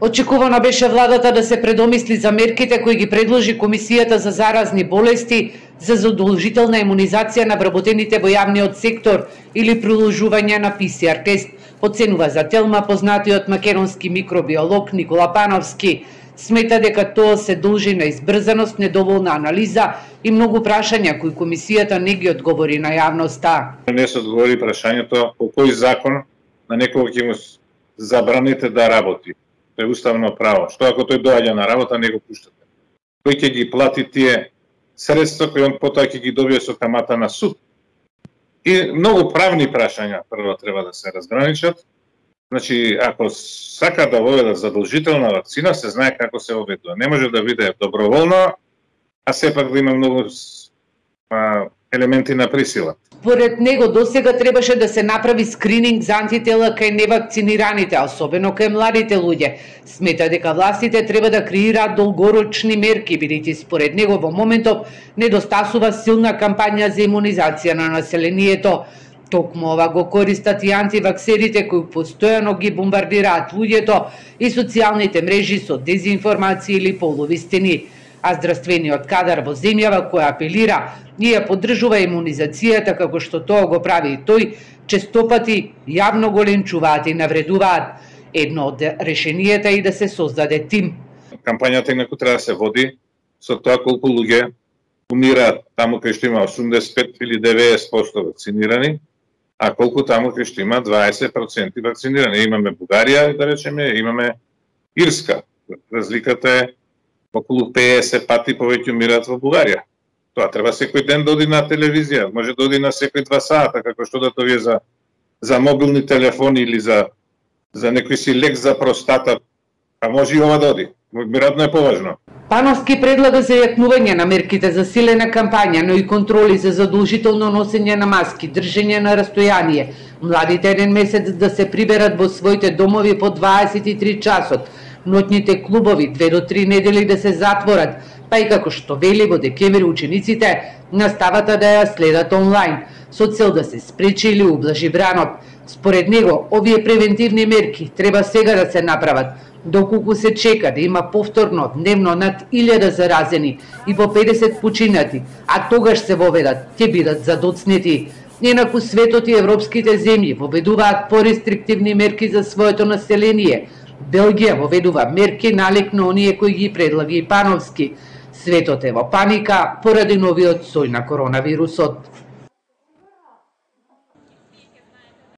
Очекувано беше владата да се предомисли за мерките кои ги предложи Комисијата за заразни болести за задолжителна имунизација на вработените во јавниот сектор или приложување на ПСР тест, оценува за Телма познатиот македонски микробиолог Никола Пановски. Смета дека тоа се должи на избрзаност, недоволна анализа и многу прашања кои Комисијата не ги одговори на јавноста. Не се одговори прашањето по кој закон на некој ќе му забраните да работи. Тоа е уставно право. Што ако тој доаѓа на работа, не го пуштате? Кој ќе ги плати тие средства кои он потоа ќе ги добие со камата на суд? И многу правни прашања прво треба да се разграничат. Значи, ако сака да воведат задолжителна вакцина, се знае како се воведува. Не може да биде доброволно, а сепак да има многу елементи на присила. Според него досега требаше да се направи скрининг за антитела кај невакцинираните, особено кај младите луѓе. Смета дека властите треба да креираат долгорочни мерки, бидејќи според него во моментов недостасува силна кампања за имунизација на населението. Токму ова го користат и антиваксерите кои постојано ги бомбардираат луѓето и социјалните мрежи со дезинформација или полувистини. А здравствениот кадар во земјава која апелира и ја поддржува имунизацијата како што тоа го прави и тој, честопати јавно го ленчуваат и навредуваат. Едно од решенијата е и да се создаде тим. Кампањата инаку треба да се води со тоа колку луѓе умираат таму кај што има 85 или 90% вакцинирани, а колку таму кај што има 20% вакцинирани. Имаме Бугарија, да речеме, имаме Ирска. Разликата е околу 50 пати повеќе умираат во Бугарија. Тоа треба секој ден да оди на телевизија, може да оди на секој 2 сата, како што да тоа е за мобилни телефони или за некој си лек за простата, а може и ова да оди. Веројатно е поважно. Пановски предлага зајакнување на мерките за силена кампања, но и контроли за задолжително носење на маски, држење на растојание, младите еден месец да се приберат во своите домови по 23 часот, ноќните клубови 2 до 3 недели да се затворат, па и како што вели во декември учениците наставата да ја следат онлайн, со цел да се спречи или ублажи бранот. Според него, овие превентивни мерки треба сега да се направат, доколку се чека да има повторно дневно над 1000 заразени и по 50 починати, а тогаш се воведат, ќе бидат задоцнети. Инаку светот и европските земји воведуваат порестриктивни мерки за своето население. Белгија воведува мерки налик на оние кои ги предлаги и Пановски. Светот е во паника поради новиот сој на коронавирусот.